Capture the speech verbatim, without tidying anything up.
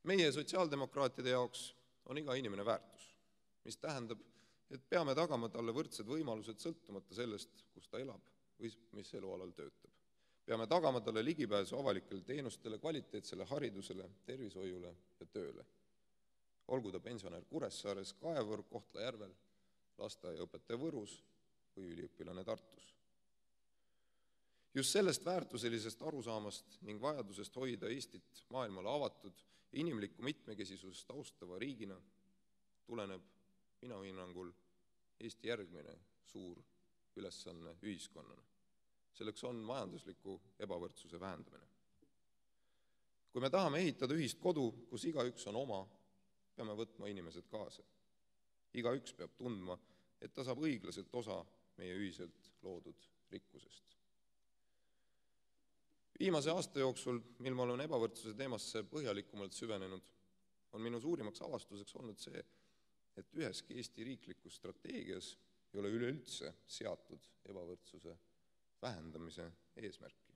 Meie sotsiaaldemokraatide jaoks on iga inimene väärtus, mis tähendab, et peame tagama talle võrdsed võimalused sõltumata sellest, kus ta elab või mis elualal töötab. Peame tagama talle ligipääsu avalikele teenustele, kvaliteetsele haridusele, tervishoiule ja tööle. Olgu ta pensionär Kuressaares, Kaevur, Kohtla-Järvel, lasteaiaõpetaja Võrus või üliõpilane Tartus. Just sellest väärtuselisest arusaamast ning vajadusest hoida Eestit maailmale avatud ja inimlikku mitmekesisusest austava riigina tuleneb minu hinnangul Eesti järgmine suur ülesanne ühiskonnana. Selleks on majandusliku ebavõrdsuse vähendamine. Kui me tahame ehitada ühist kodu, kus igaüks on oma, peame võtma inimesed kaasa. Igaüks peab tundma, et ta saab õiglaselt osa meie ühiselt loodud rikkusest. Viimase aasta jooksul, mil ma olen ebavõrdsuse teemasse põhjalikumalt süvenenud, on minu suurimaks avastuseks olnud see, et üheski Eesti riiklikus strateegias ei ole üleüldse seatud ebavõrdsuse vähendamise eesmärki.